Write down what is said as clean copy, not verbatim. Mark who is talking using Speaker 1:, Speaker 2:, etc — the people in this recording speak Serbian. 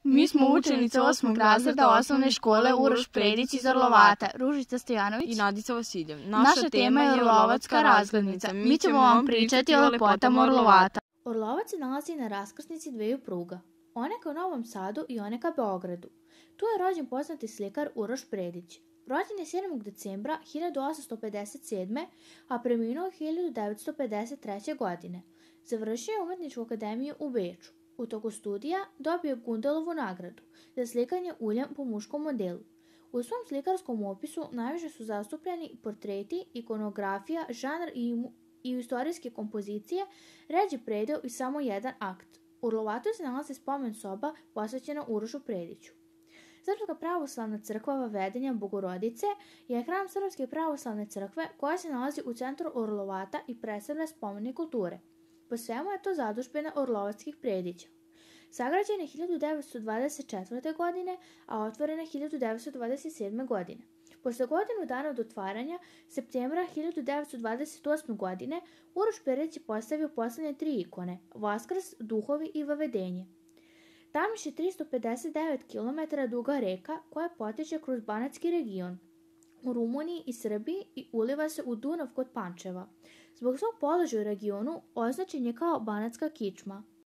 Speaker 1: Mi smo učenice 8. razreda osnovne škole Uroš Predić iz Orlovata, Ružica Stojanović
Speaker 2: i Nadica Vasiljev.
Speaker 1: Naša tema je Orlovatska razglednica. Mi ćemo vam pričati o lepotama Orlovata.
Speaker 3: Orlovac se nalazi na raskrsnici dveju pruga, one ka Novom Sadu i one ka Beogradu. Tu je rođen poznati slikar Uroš Predić. Rođen je 7. decembra 1857. a preminuo 1953. godine. Završio je umetničku akademiju u Beču. U toku studija dobio je Gundelovu nagradu za slikanje uljem po muškom modelu. U svom slikarskom opisu najviše su zastupljeni portreti, ikonografija, žanr i istorijske kompozicije, ređi predeo i samo jedan akt. U Orlovatu se nalazi spomen soba posvećena Urošu Prediću. Srpska pravoslavna crkva Vavedenja Bogorodice je hram Srpske pravoslavne crkve koja se nalazi u centru Orlovata i predstavlja spomenik kulture. Po svemu je to zadužbina Orlovatskih Predića. Sagrađena je 1924. godine, a otvorena 1927. godine. Posle godinu dana od otvaranja, septembra 1928. godine, Uroš Predić je postavio poslednje 3 ikone, Vaskrs, Duhovi i Vavedenje. Tamiš je 359 km duga reka koja poteče kroz Banatski region u Rumuniji i Srbiji i uliva se u Dunav kod Pančeva. Zbog svog položaja u regionu označen je kao Banatska kičma.